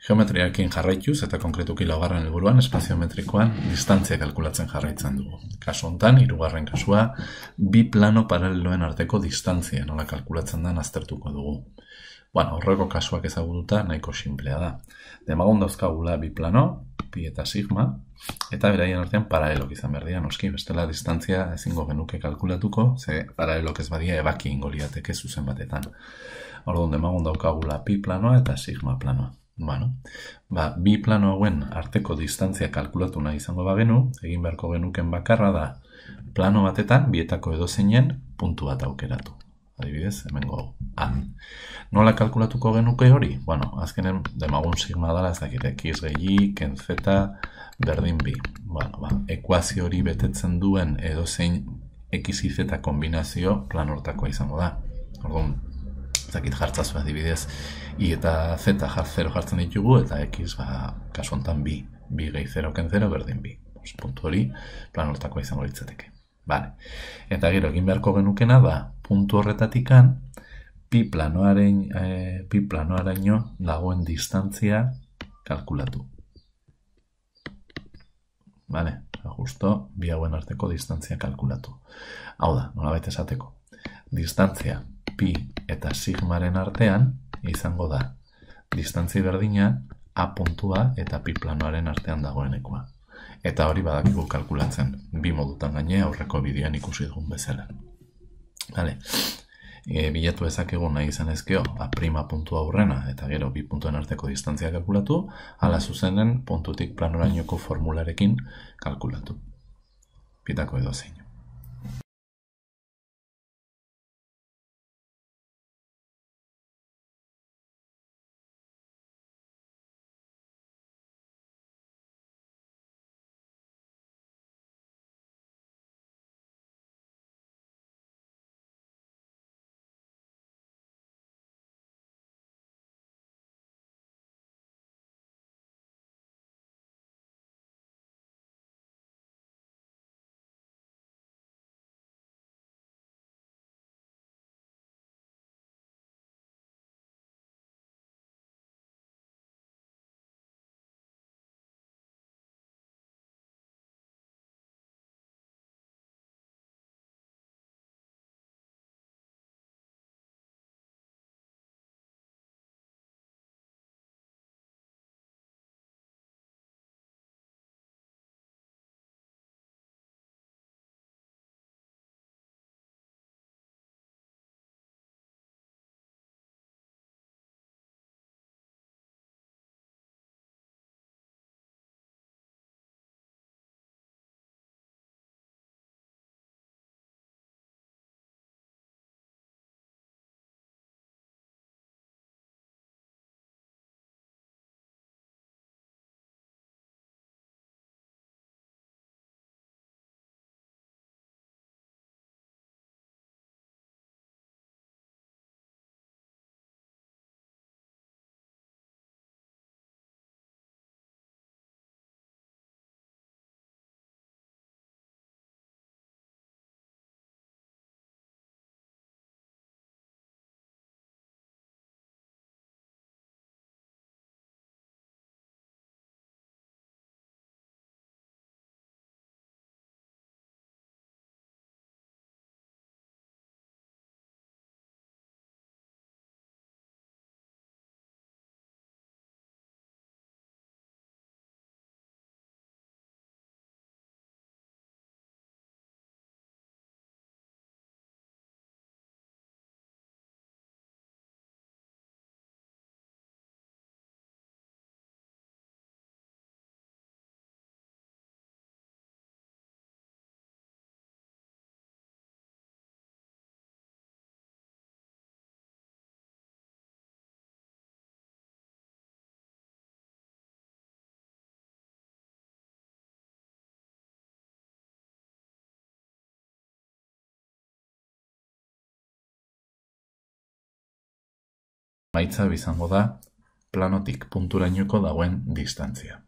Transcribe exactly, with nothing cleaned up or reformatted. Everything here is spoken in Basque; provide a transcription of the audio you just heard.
Geometriarekin jarraituz eta konkretuki laugarren helburuan espaziometrikoan distantzia kalkulatzen jarraitzen dugu. Kasu hontan, hirugarren kasua, bi plano paraleloen arteko distantzia nola kalkulatzen den aztertuko dugu. Bueno, horreko kasuak ezagututa nahiko sinplea da. Demagun dauzkagula bi plano, pi eta sigma, eta beraien artean paralelok izan behar dira, noski, bestela distantzia ezingo genuke kalkulatuko, ze paralelok ez badia ebaki ingo liateke zuzen batetan. Orduan, demagun daukagula pi planoa eta sigma planoa. Bueno, ba, bi plano hauen arteko distantzia kalkulatu nahi izango bagenu, egin beharko genuken bakarra da plano batetan bietako edozeinen puntu bat aukeratu. Adibidez, hemengo A. Nola kalkulatuko genuke hori? Bueno, azkenen demagun sigma dala ez dakit x gehi, ken z, berdin bi. Bueno, ba, ekuazio hori betetzen duen edozein x y z kombinazio plan hortakoa izango da. Orduan, zakit jartzazu adibidez, i eta z zero jartzen ditugu, eta x, ba, kasu honetan bi, bi gehi zero ken zero berdin bi. Puntu hori plan hortakoa izango litzateke. Vale. Eta gero egin beharko genukena da, puntu horretatikan, pi planoaren, e, pi planoaraino dagoen distantzia kalkulatu. Vale, justo bi hauen arteko distantzia kalkulatu. Hau da, nolabait esateko. Distantzia pi eta sigmaren artean izango da distantzia berdina a puntua eta pi planoaren artean dagoenekoa. Eta hori badakigu kalkulatzen, bi modutan gaine aurreko bideoan ikusi dugun bezala. Vale. E, bilatu ezakegu nahi izan ezkeo, a prima puntua aurrena eta gero bi puntuen arteko distantzia kalkulatu, ala zuzenen puntutik planorainoko formularekin kalkulatu. Pitako edozein. Maitza izango da planotik punturainoko dagoen distantzia.